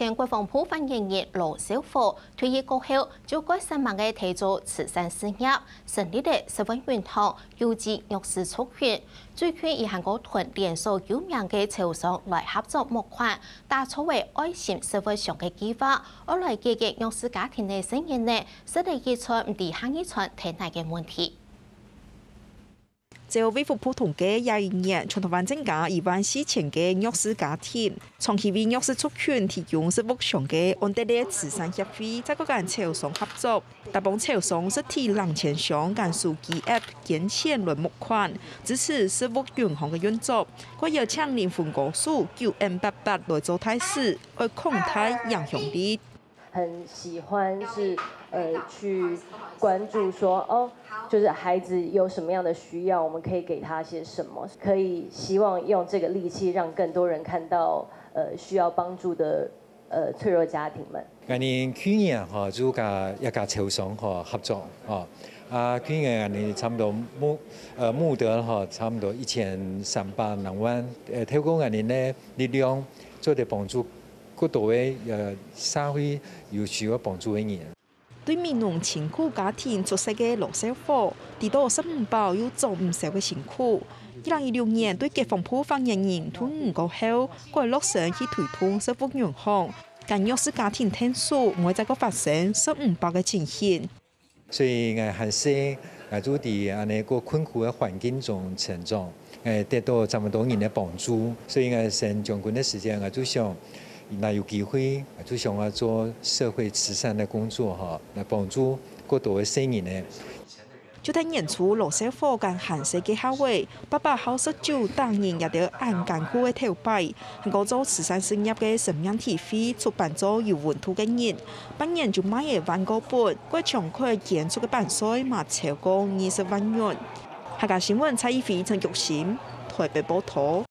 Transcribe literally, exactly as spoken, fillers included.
前國防部發言人羅紹虎退役過後，就蓋煞猛个提做慈善事業，成立了食物銀行，救濟弱勢族群。最近佢還過同連鎖有名个超商來合作募款，打造个愛心食物箱个計畫，愛來解決弱勢家庭个細人仔食了一餐毋知下一餐在哪个問題。 照衛福部統計，這一年全臺灣增加一萬四千个弱勢家庭，長期為弱勢族群提供食物箱个安德烈慈善協會，再過同超商合作，打幫超商實體零錢箱同手機app捐錢來募款，支持食物銀行个運作。過邀請靈魂歌手九M八八來做大使，愛擴大影響力。 很喜歡是呃去關注說哦，就是孩子有什麼樣的需要，我們可以給他些什麼，可以希望用這個力氣讓更多人看到呃需要幫助的呃脆弱家庭們。𠊎等去年吼就佮一家超商吼合作吼，啊去年𠊎等差不多募呃募得吼差不多一千三百零萬，呃透過𠊎等个力量做得幫助 更多个呃社會有需要幫助个人。對美濃清苦家庭出世个羅紹虎，知著食毋飽又裝毋消个辛苦。二零一六年對國防部發言人退伍過後，過來落身去推動食物銀行，同弱勢家庭𢯭手，毋會再過發生食毋飽个情形。 所以𠊎還細，𠊎就在恁仔个困苦个環境中成長，𠊎得著這麼多人个幫助。所以𠊎升將軍个時節，𠊎就想，若有機會，𠊎就想愛做社會慈善个工作吼，來幫助更多个細人仔。 就在年初羅紹虎還細个下仔，爸爸好食酒、打人這兜恁艱苦个頭擺，還過做慈善事業个生命體會出版做有溫度个人，半年就賣了萬過本，過獎款捐出个版稅嘛超過二十萬銀。客家新聞蔡一菲、陳玉興，臺北報導。